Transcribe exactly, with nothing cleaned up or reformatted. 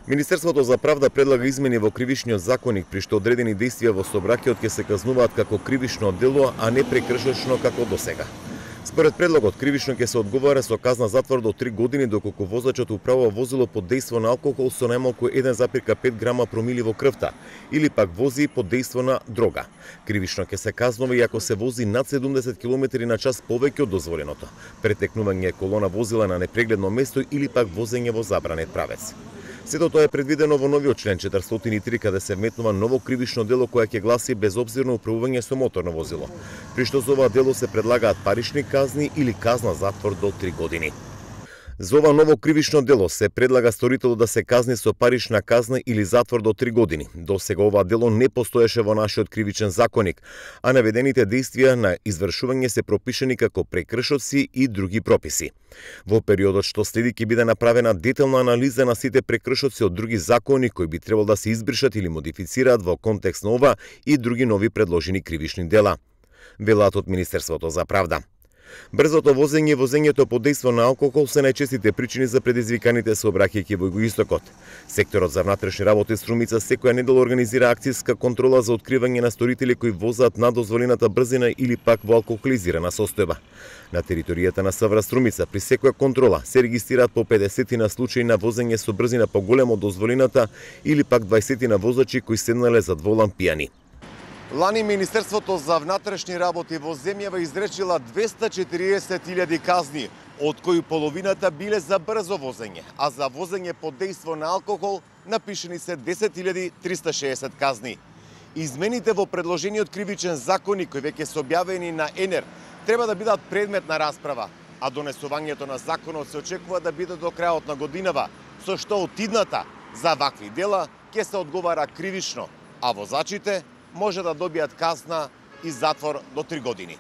Министерството за правда предлага измени во кривичниот законник при што одредени действија во сообраќајот ќе се казнуваат како кривично дело, а не прекршечно како досега. Според предлогот, кривично ќе се одговара со казна затвор до три години доколку возачот управува возило под дејство на алкохол со најмалку еден запирка пет грама промили во крвта или пак вози под дејство на дрога. Кривично ќе се казнува и ако се вози над седумдесет километри на час повеќе од дозволеното, претекнување колона возила на непрегледно место или пак возење во забранет правец. Сето тоа е предвидено во новиот член четиристотини и три, каде се вметнува ново кривично дело кое ќе гласи безобзирно управување со моторно возило, при што за ова дело се предлагаат парични казни или казна затвор до три години. За ова ново кривично дело се предлага сторителот да се казни со парична казна или затвор до три години. До сега ова дело не постоеше во нашиот кривичен законник, а наведените действија на извршување се пропишани како прекршоци и други прописи. Во периодот што следи ќе биде направена детална анализа на сите прекршоци од други закони кои би требало да се избришат или модифицираат во контекст на ова и други нови предложени кривични дела, велат од Министерството за правда. Брзото возење и возењето под дејство на алкохол се најчестите причини за предизвиканите сообраќајки во Југоистокот. Секторот за внатрешни работи Струмица секоја недела организира акцијска контрола за откривање на сторители кои возат над дозволената брзина или пак во алкохолизирана состојба. На територијата на СВР Струмица при секоја контрола се регистрираат по педесетина случаи на возење со брзина поголема од дозволената или пак дваесетина возачи кои седнале зад волан пијани. Лани Министерството за внатрешни работи во земјава изречила двесте и четириесет илјади казни, од кои половината биле за брзо возење, а за возење под дејство на алкохол напишени се десет илјади триста и шеесет казни. Измените во предложениот кривичен законник кои веќе се објавени на ЕНЕР треба да бидат предмет на расправа, а донесувањето на законот се очекува да биде до крајот на годинава, со што од идната за вакви дела ќе се одговара кривично, а возачите може да добијат казна и затвор до три години.